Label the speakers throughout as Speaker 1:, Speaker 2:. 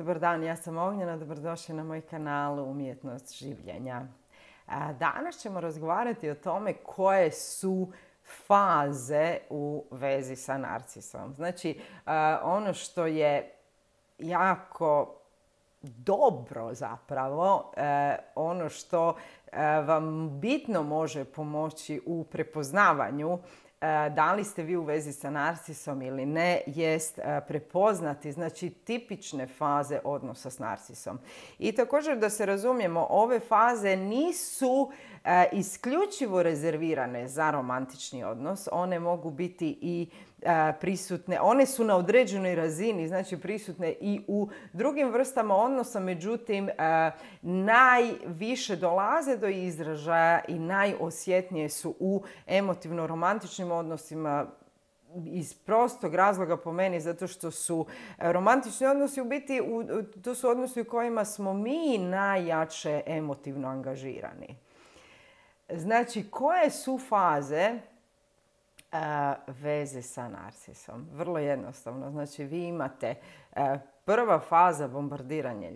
Speaker 1: Dobar dan, ja sam Ognjena, dobrodošli na moj kanal Umjetnost življenja. Danas ćemo razgovarati o tome koje su faze u vezi sa narcisom. Znači, ono što je jako dobro zapravo, ono što vam bitno može pomoći u prepoznavanju da li ste vi u vezi sa narcisom ili ne, jest prepoznati, znači, tipične faze odnosa s narcisom. I također da se razumijemo, ove faze nisu isključivo rezervirane za romantični odnos. One mogu biti i prisutne, one su na određenoj razini, znači prisutne i u drugim vrstama odnosa, međutim najviše dolaze do izražaja i najosjetnije su u emotivno-romantičnim odnosima, iz prostog razloga po meni, zato što su romantični odnosi u biti, to su odnosi u kojima smo mi najjače emotivno angažirani. Znači, koje su faze veze sa narcisom? Vrlo jednostavno. Znači, vi imate prva faza bombardiranje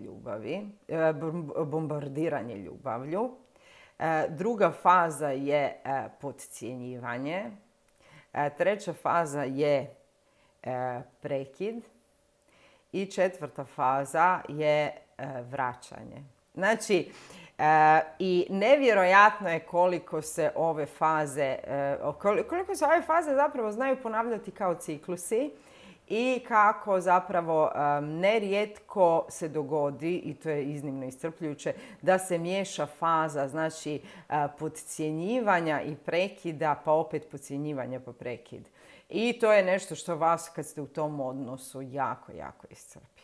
Speaker 1: ljubavlju. Druga faza je podcjenjivanje. Treća faza je prekid. I četvrta faza je vraćanje. Znači, i nevjerojatno je koliko se ove faze zapravo znaju ponavljati kao ciklusi i kako zapravo nerijetko se dogodi, i to je iznimno iscrpljujuće, da se miješa faza, znači, podcjenjivanja i prekida, pa opet podcjenjivanja pa prekid. I to je nešto što vas, kad ste u tom odnosu, jako, jako iscrpi.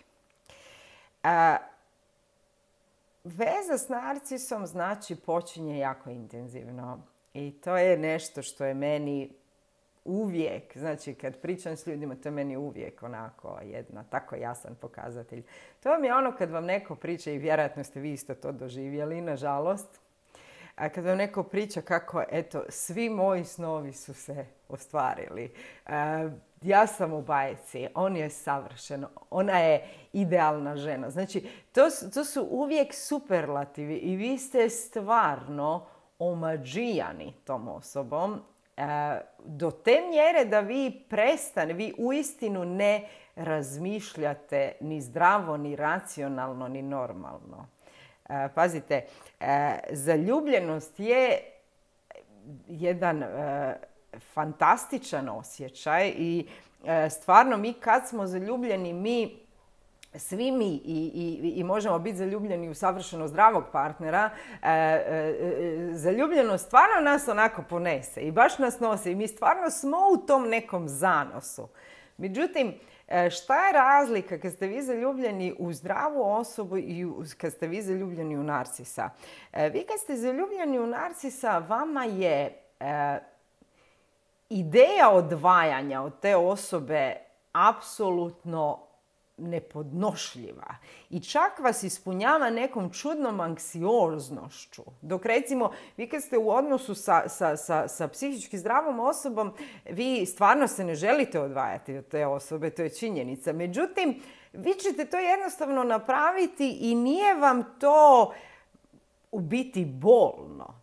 Speaker 1: Veza s narcisom, znači, počinje jako intenzivno. I to je nešto što je meni uvijek, znači kad pričam s ljudima, to je meni uvijek onako jedna tako jasan pokazatelj. To vam je ono kad vam neko priča, i vjerojatno ste vi isto to doživjeli, nažalost, a kad vam neko priča kako, eto, svi moji snovi su se ostvarili. Ja sam u bajci, on je savršen, ona je idealna žena. Znači, to su uvijek superlativi i vi ste stvarno omađijani tom osobom do te mjere da vi uistinu ne razmišljate ni zdravo, ni racionalno, ni normalno. Pazite, zaljubljenost je jedan fantastičan osjećaj i stvarno mi kad smo zaljubljeni, svi mi i možemo biti zaljubljeni u savršeno zdravog partnera, zaljubljenost stvarno nas onako ponese i baš nas nosi i mi stvarno smo u tom nekom zanosu. Međutim, šta je razlika kad ste vi zaljubljeni u zdravu osobu i kad ste vi zaljubljeni u narcisa? Vi kad ste zaljubljeni u narcisa, vama je ideja odvajanja od te osobe apsolutno nepodnošljiva. I čak vas ispunjava nekom čudnom anksioznošću. Dok recimo, vi kad ste u odnosu sa psihički zdravom osobom, vi stvarno se ne želite odvajati od te osobe, to je činjenica. Međutim, vi ćete to jednostavno napraviti i nije vam to u biti bolno.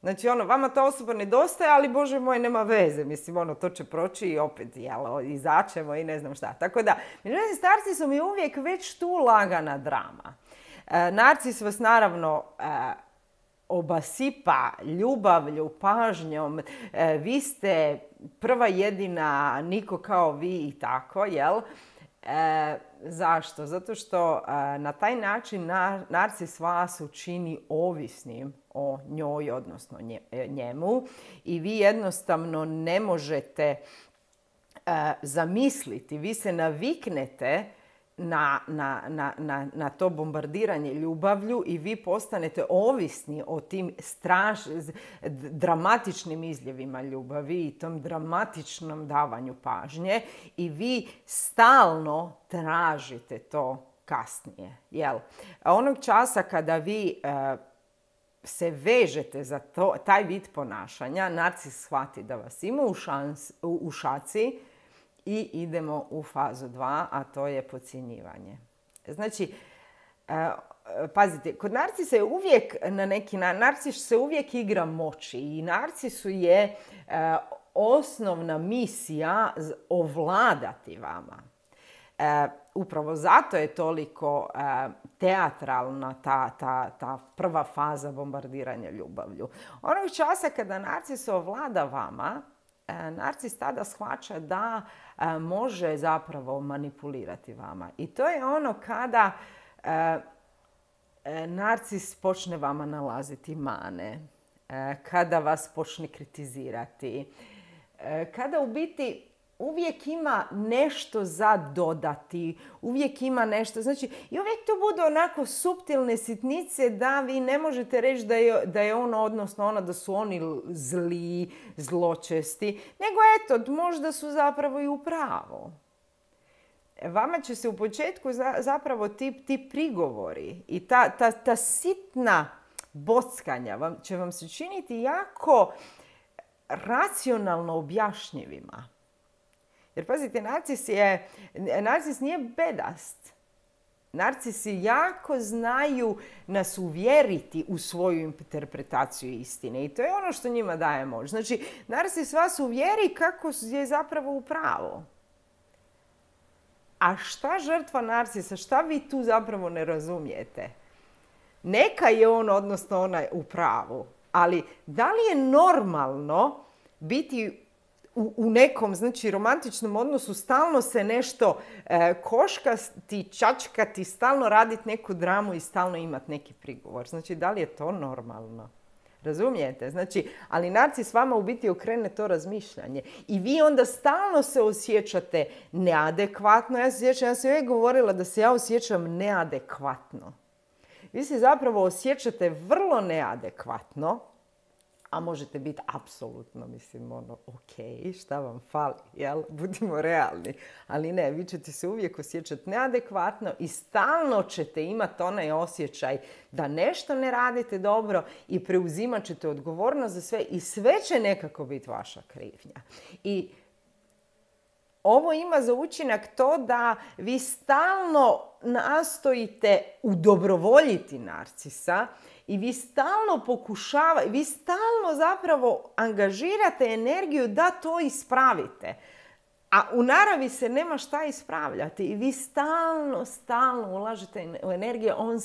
Speaker 1: Znači, vama ta osoba nedostaje, ali Bože moj, nema veze. Mislim, to će proći i opet, izaćemo i ne znam šta. Tako da, međutim, s narcisom je uvijek već tu lagana drama. Narcis vas naravno obasipa ljubavlju, pažnjom. Vi ste prva jedina, niko kao vi i tako, jel? Zašto? Zato što na taj način narcis vas učini ovisnim o njoj, odnosno njemu, i vi jednostavno ne možete zamisliti, vi se naviknete na to bombardiranje ljubavlju i vi postanete ovisni o tim dramatičnim izljevima ljubavi i tom dramatičnom davanju pažnje i vi stalno tražite to kasnije. Jel? A onog časa kada vi se vežete za taj vid ponašanja, narcis shvati da vas ima u šaci i idemo u fazu 2, a to je podcjenjivanje. Znači, pazite, kod narcisa je uvijek na neki narcis se uvijek igra moći i narcisu je osnovna misija ovladati vama. Upravo zato je toliko teatralna ta prva faza bombardiranja ljubavlju. Onog časa kada narcis ovlada vama, narcis tada shvaća da može zapravo manipulirati vama. I to je ono kada narcis počne vama nalaziti mane, kada vas počne kritizirati, kada u biti uvijek ima nešto za dodati, uvijek ima nešto, znači i uvijek to budu onako suptilne sitnice da vi ne možete reći da je ono, odnosno ona, da su oni zli, zločesti, nego eto, možda su zapravo i u pravu. Vama će se u početku zapravo ti prigovori i ta sitna bockanja će vam se činiti jako racionalno objašnjivima. Jer pazite, narcis nije bedast. Narcisi jako znaju nas uvjeriti u svoju interpretaciju istine. I to je ono što njima daje moć. Znači, narcis vas uvjeri kako je zapravo u pravu. A šta žrtva narcisa, šta vi tu zapravo ne razumijete? Neka je on, odnosno ona, u pravu. Ali da li je normalno biti u nekom, znači, romantičnom odnosu, stalno se nešto koškati, čačkati, stalno raditi neku dramu i stalno imati neki prigovor? Znači, da li je to normalno? Razumijete? Znači, ali narcis vama u biti okrene to razmišljanje. I vi onda stalno se osjećate neadekvatno. Ja sam uvijek govorila da se ja osjećam neadekvatno. Vi se zapravo osjećate vrlo neadekvatno, a možete biti apsolutno, mislim, ok, šta vam fali, jel? Budimo realni. Ali ne, vi ćete se uvijek osjećati neadekvatno i stalno ćete imati onaj osjećaj da nešto ne radite dobro i preuzimat ćete odgovornost za sve i sve će nekako biti vaša krivnja. I ovo ima za učinak to da vi stalno nastojite udobrovoljiti narcisa i vi stalno zapravo angažirate energiju da to ispravite. A u naravi se nema šta ispravljati i vi stalno ulažete u energiju, on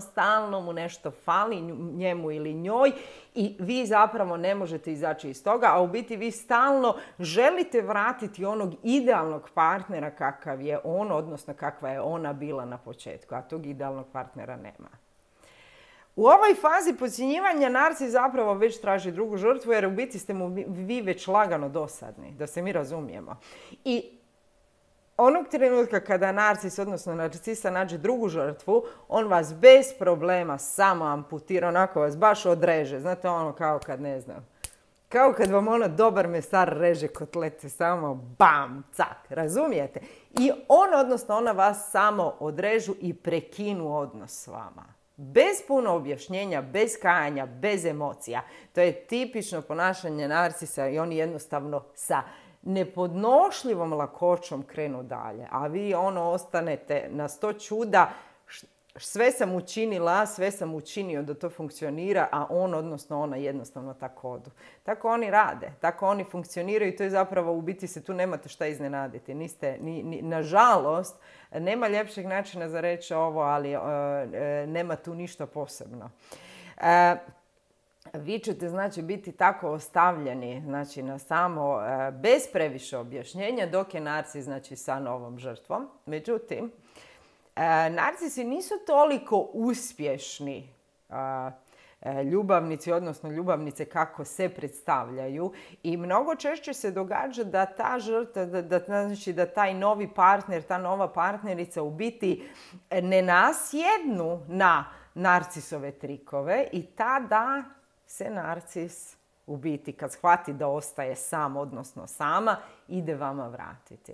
Speaker 1: stalno mu nešto fali, njemu ili njoj, i vi zapravo ne možete izaći iz toga, a u biti vi stalno želite vratiti onog idealnog partnera kakav je on, odnosno kakva je ona bila na početku, a tog idealnog partnera nema. U ovoj fazi podcjenjivanja narcis zapravo već traži drugu žrtvu, jer u biti ste mu vi već lagano dosadni, da se mi razumijemo. I onog trenutka kada narcis, odnosno narcisa, nađe drugu žrtvu, on vas bez problema samo amputira, onako vas baš odreže. Znate, ono kao kad, ne znam, kao kad vam dobar mesar reže kotlete, samo bam, cak, razumijete? I odnosno ona vas samo odrežu i prekinu odnos s vama. Bez puno objašnjenja, bez kajanja, bez emocija. To je tipično ponašanje narcisa i oni jednostavno sa nepodnošljivom lakoćom krenu dalje. A vi ostanete na 100 čuda, sve sam učinila, sve sam učinio da to funkcionira, a odnosno ona jednostavno tako odu. Tako oni rade, tako oni funkcioniraju i to je zapravo, u biti se tu nemate šta iznenaditi. Nažalost, nema ljepšeg načina za reći ovo, ali nema tu ništa posebno. Vi ćete, znači, biti tako ostavljeni, znači, na samo, bez previše objašnjenja, dok je narcis, znači, sa novom žrtvom. Međutim, narcisi nisu toliko uspješni ljubavnici, odnosno ljubavnice kako se predstavljaju, i mnogo češće se događa da ta žrtva, znači da taj novi partner, ta nova partnerica u biti ne nasjednu na narcisove trikove i tada se narcis u biti, kad shvati da ostaje sam, odnosno sama, ide vama vratiti.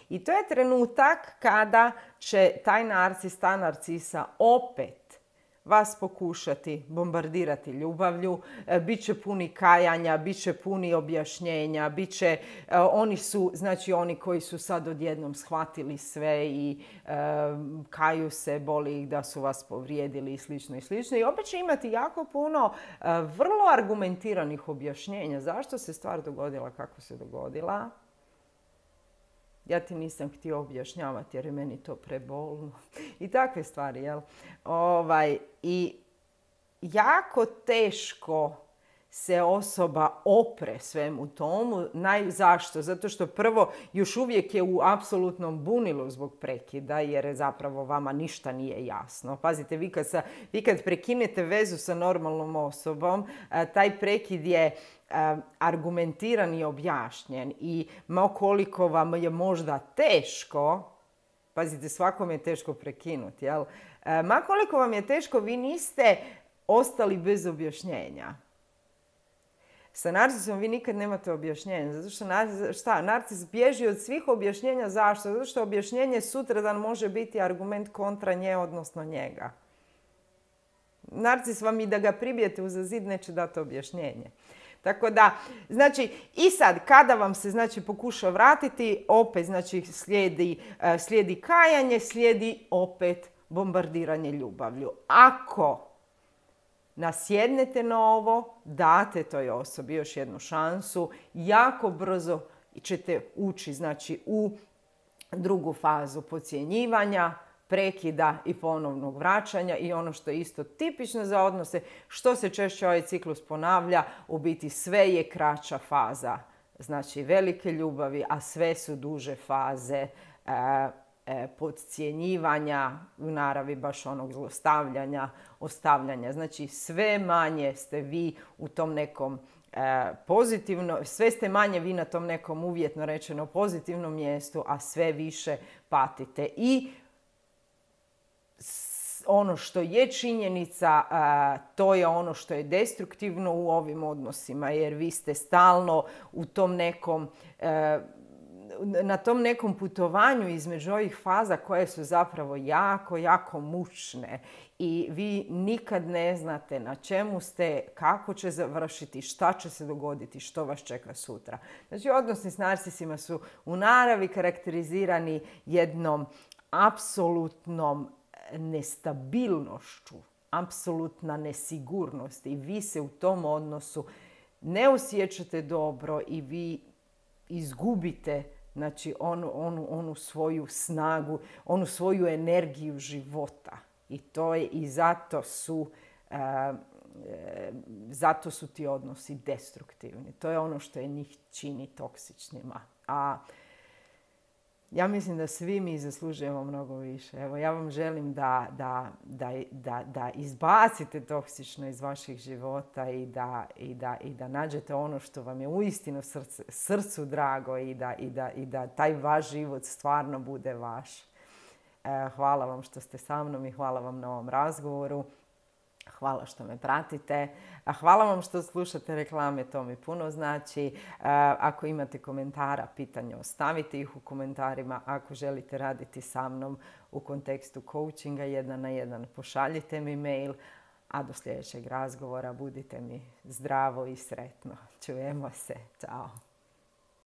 Speaker 1: I to je trenutak kada će taj narcis, ta narcisa opet vas pokušati bombardirati ljubavlju, bit će puni kajanja, bit će puni objašnjenja, oni su, znači oni koji su sad odjednom shvatili sve i kaju se, boli ih da su vas povrijedili i slično i slično. I opet će imati jako puno vrlo argumentiranih objašnjenja zašto se stvar dogodila kako se dogodila. Ja ti nisam htio objašnjavati jer je meni to prebolno. I takve stvari, jel? I jako teško se osoba opre svemu tomu. Zašto? Zato što prvo još uvijek je u apsolutnom bunilu zbog prekida jer zapravo vama ništa nije jasno. Pazite, vi kad prekinete vezu sa normalnom osobom, taj prekid je argumentiran i objašnjen i koliko vam je možda teško, pazite, svakom je teško prekinuti, jel? Ma koliko vam je teško, vi niste ostali bez objašnjenja. Sa narcisom vi nikad nemate objašnjenja. Zato što narcis bježi od svih objašnjenja. Zašto? Zato što objašnjenje sutradan može biti argument kontra nje, odnosno njega. Narcis vam i da ga pribijete uza zid neće dati objašnjenje. Tako da, znači, i sad, kada vam se, znači, pokuša vratiti, opet, znači, slijedi kajanje, slijedi opet bombardiranje ljubavlju. Ako nasjednete na ovo, date toj osobi još jednu šansu, jako brzo ćete ući, znači, u drugu fazu podcjenjivanja, prekida i ponovnog vraćanja i ono što je isto tipično za odnose, što se češće ovaj ciklus ponavlja, u biti sve je kraća faza. Znači velike ljubavi, a sve su duže faze podcjenjivanja, u naravi baš onog zlostavljanja, ostavljanja. Znači sve manje ste vi u tom nekom sve ste manje vi na tom nekom uvjetno rečeno pozitivnom mjestu, a sve više patite. I ono što je činjenica, to je ono što je destruktivno u ovim odnosima, jer vi ste stalno u tom nekom, na tom nekom putovanju između ovih faza koje su zapravo jako, jako mučne. I vi nikad ne znate na čemu ste, kako će završiti, šta će se dogoditi, što vas čeka sutra. Znači, odnosi s narcisima su u naravi karakterizirani jednom apsolutnom nestabilnošću, apsolutna nesigurnost i vi se u tom odnosu ne osjećate dobro i vi izgubite, znači, onu svoju snagu, onu svoju energiju života. I to je, i zato su ti odnosi destruktivni. To je ono što je njih čini toksičnima. A ja mislim da svi mi zaslužujemo mnogo više. Evo, ja vam želim da izbacite toksično iz vaših života i da nađete ono što vam je uistinu srcu drago i da taj vaš život stvarno bude vaš. Hvala vam što ste sa mnom i hvala vam na ovom razgovoru. Hvala što me pratite. Hvala vam što slušate reklame, to mi puno znači. Ako imate komentara, pitanja, ostavite ih u komentarima. Ako želite raditi sa mnom u kontekstu coachinga 1 na 1, pošaljite mi mail. A do sljedećeg razgovora budite mi zdravo i sretno. Čujemo se. Ćao.